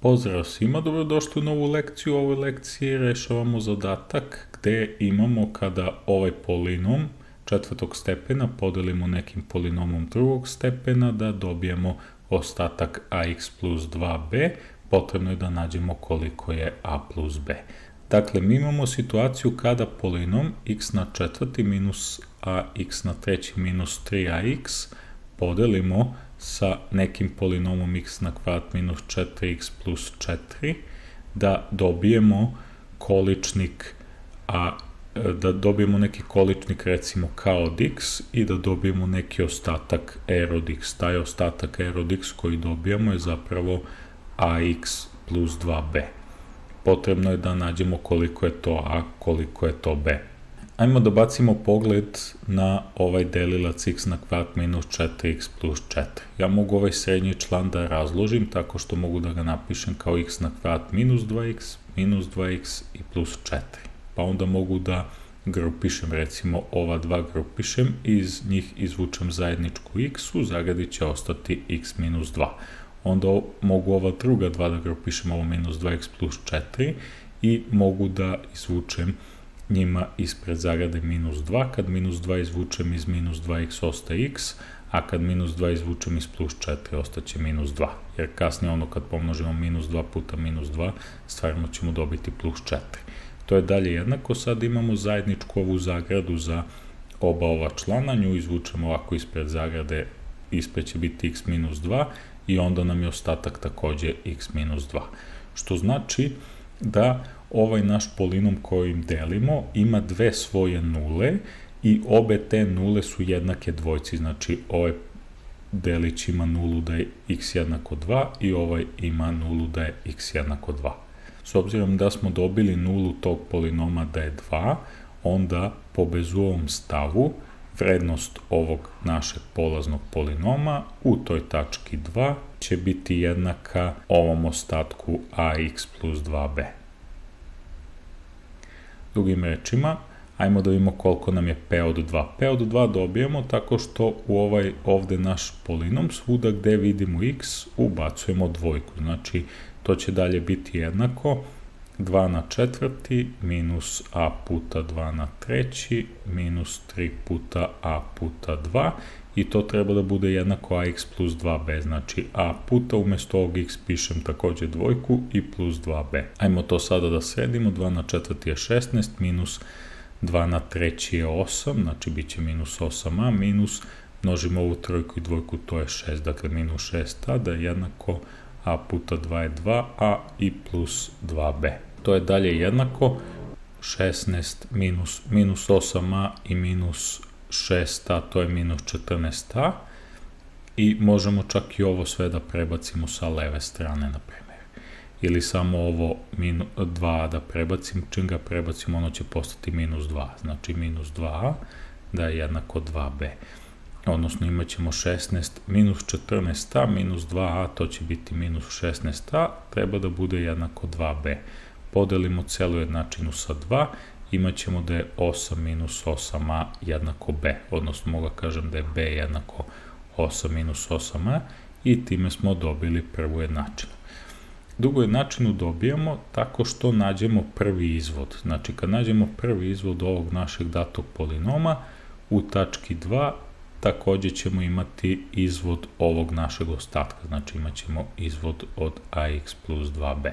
Pozdrav svima, dobrodošli u novu lekciju. U ovoj lekciji rešavamo zadatak gde imamo kada ovaj polinom četvrtog stepena podelimo nekim polinomom drugog stepena da dobijemo ostatak ax plus 2b, potrebno je da nađemo koliko je a plus b. Dakle, mi imamo situaciju kada polinom x na četvrti minus ax na treći minus 3ax podelimo sa nekim polinomom x na kvadrat minus 4x plus 4, da dobijemo količnik da dobijemo neki količnik recimo k od x i da dobijemo neki ostatak r od x. Taj ostatak r od x koji dobijamo je zapravo ax plus 2b. Potrebno je da nađemo koliko je to a, koliko je to b. Ajmo da bacimo pogled na ovaj delilac x na kvadrat minus 4x plus 4. Ja mogu ovaj srednji član da razložim tako što mogu da ga napišem kao x na kvadrat minus 2x i plus 4. Pa onda mogu da grupišem, recimo ova dva grupišem i iz njih izvučem zajedničku x, u zagradi će ostati x minus 2. Onda mogu ova druga dva da grupišem, ovo minus 2x plus 4 i mogu da izvučem njima ispred zagrade minus 2, kad minus 2 izvučem iz minus 2x ostaje x, a kad minus 2 izvučem iz plus 4 ostaće minus 2, jer kasnije ono kad pomnožimo minus 2 puta minus 2, stvarno ćemo dobiti plus 4. To je dalje jednako, sad imamo zajedničku ovu zagradu za oba ova člana, nju izvučemo ovako ispred zagrade, ispred će biti x minus 2 i onda nam je ostatak takođe x minus 2, što znači da ovaj naš polinom kojim delimo ima dve svoje nule i obe te nule su jednake dvojci, znači ovaj delić ima nulu da je x jednako 2 i ovaj ima nulu da je x jednako 2. S obzirom da smo dobili nulu tog polinoma da je 2, onda po Bezovom stavu vrednost ovog našeg polaznog polinoma u toj tački 2 će biti jednaka ovom ostatku ax plus 2b. Drugim rečima, ajmo da vidimo koliko nam je p od 2. P od 2 dobijemo tako što u ovaj ovde naš polinom svuda gde vidimo x ubacujemo dvojku. Znači, to će dalje biti jednako 2 na četvrti minus a puta 2 na treći minus 3 puta a puta 2 i to treba da bude jednako ax plus 2b, znači a puta umesto ovog x pišem takođe dvojku i plus 2b. Ajmo to sada da sredimo, 2 na četvrti je 16 minus 2 na treći je 8, znači bit će minus 8a minus, množimo ovu trojku i dvojku, to je 6, dakle minus 6a da je jednako a puta 2 je 2a i plus 2b. To je dalje jednako 16 minus 8a i minus 6a, to je minus 14a i možemo čak i ovo sve da prebacimo sa leve strane, na primjer. Ili samo ovo 2a da prebacim, čim ga prebacimo ono će postati minus 2, znači minus 2a da je jednako 2b. Odnosno imat ćemo 16 minus 14a minus 2a, to će biti minus 16a, treba da bude jednako 2b. Podelimo celu jednačinu sa 2, imat ćemo da je 8 minus 8a jednako b, odnosno mogu kažem da je b jednako 8 minus 8a i time smo dobili prvu jednačinu. Drugu jednačinu dobijamo tako što nađemo prvi izvod. Znači kad nađemo prvi izvod ovog našeg datog polinoma, u tački 2 takođe ćemo imati izvod ovog našeg ostatka, znači imat ćemo izvod od ax plus 2b.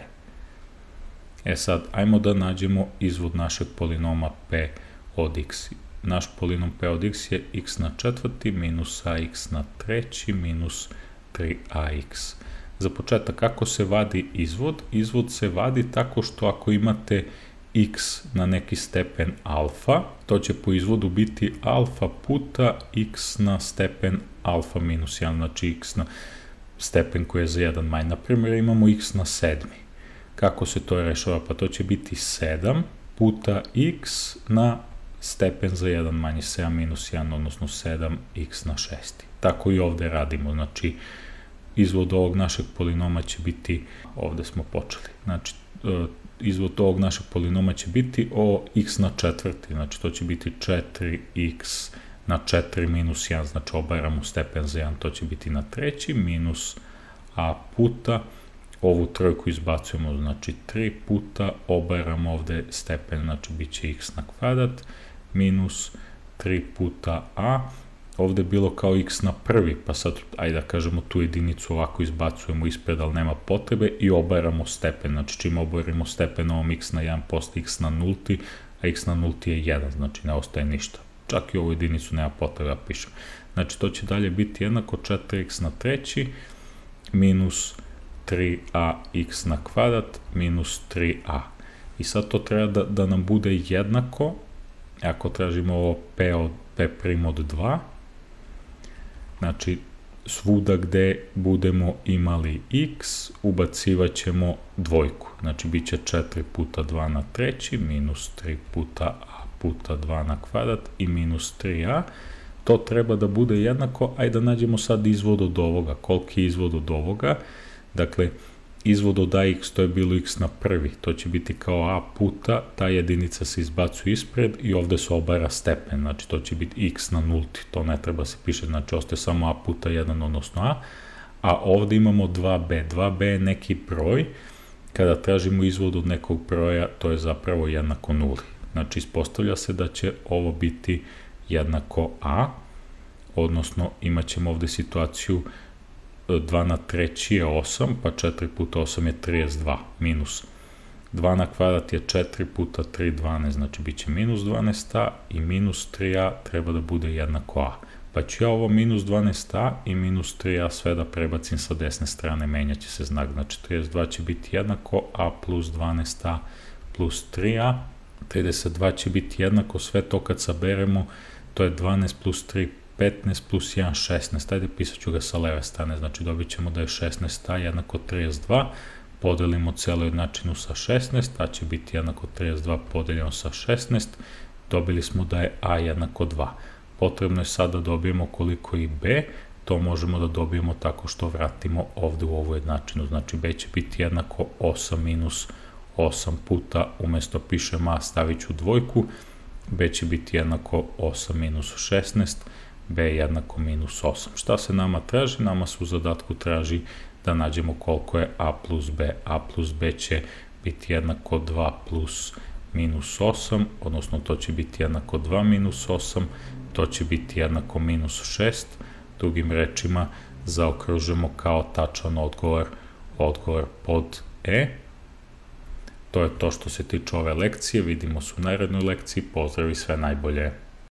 E sad, ajmo da nađemo izvod našeg polinoma p od x. Naš polinom p od x je x na četvrti minus ax na treći minus 3ax. Za početak, kako se vadi izvod? Izvod se vadi tako što ako imate x na neki stepen alfa, to će po izvodu biti alfa puta x na stepen alfa minus 1, znači x na stepen koji je za 1 manj. Naprimjer, imamo x na sedmi. Kako se to rešava? Pa to će biti 7 puta x na stepen za 1 manje, 7 minus 1, odnosno 7x na 6. Tako i ovde radimo, znači izvod ovog našeg polinoma će biti, ovde smo počeli, znači izvod ovog našeg polinoma će biti o x na četvrti, znači to će biti 4x na 4 minus 1, znači obaramo stepen za 1, to će biti na treći minus a puta ovu trojku izbacujemo, znači 3 puta, obaramo ovde stepen, znači bit će x na kvadrat, minus 3 puta a, ovde je bilo kao x na prvi, pa sad, ajde da kažemo, tu jedinicu ovako izbacujemo ispred, ali nema potrebe, i obaramo stepen, znači čim obarimo stepen ovom x na 1 posto x na nulti, a x na nulti je 1, znači ne ostaje ništa. Čak i ovu jedinicu nema potrebe da pišem. Znači to će dalje biti jednako 4x na treći minus 3ax na kvadrat minus 3a. I sad to treba da nam bude jednako, ako tražimo ovo p od 2, znači svuda gde budemo imali x, ubacivat ćemo dvojku. Znači bit će 4 puta 2 na treći minus 3 puta a puta 2 na kvadrat i minus 3a. To treba da bude jednako, ajde da nađemo sad izvod od ovoga. Koliki je izvod od ovoga? Dakle, izvod od ax, to je bilo x na prvi, to će biti kao a puta, ta jedinica se izbacuje ispred i ovde se obara stepen, znači to će biti x na nulti, to ne treba se piše, znači ostaje samo a puta 1, odnosno a ovde imamo 2b, 2b je neki broj, kada tražimo izvod od nekog broja, to je zapravo jednako nuli, znači ispostavlja se da će ovo biti jednako a, odnosno imat ćemo ovde situaciju 2 na treći je 8, pa 4 puta 8 je 32, minus 2 na kvadrat je 4 puta 3, 12, znači bit će minus 12a i minus 3a treba da bude jednako a. Pa ću ja ovo minus 12a i minus 3a sve da prebacim sa desne strane, menjat će se znak, znači 32 će biti jednako a plus 12a plus 3a, 32 će biti jednako, sve to kad saberemo, to je 12 plus 3, 15 plus 1, 16, ajde pisat ću ga sa leve strane, znači dobit ćemo da je 16a jednako 32, podelimo celu jednačinu sa 16, a će biti jednako 32 podeljeno sa 16, dobili smo da je a jednako 2. Potrebno je sad da dobijemo koliko i b, to možemo da dobijemo tako što vratimo ovde u ovu jednačinu, znači b će biti jednako 8 minus 8 puta, umesto pišem a stavit ću dvojku, b će biti jednako 8 minus 16, b jednako minus 8. Šta se nama traži? Nama se u zadatku traži da nađemo koliko je a plus b. A plus b će biti jednako 2 plus minus 8, odnosno to će biti jednako 2 minus 8, to će biti jednako minus 6. Drugim rečima zaokružimo kao tačan odgovor pod E. To je to što se tiče ove lekcije, vidimo se u narednoj lekciji, pozdrav i sve najbolje.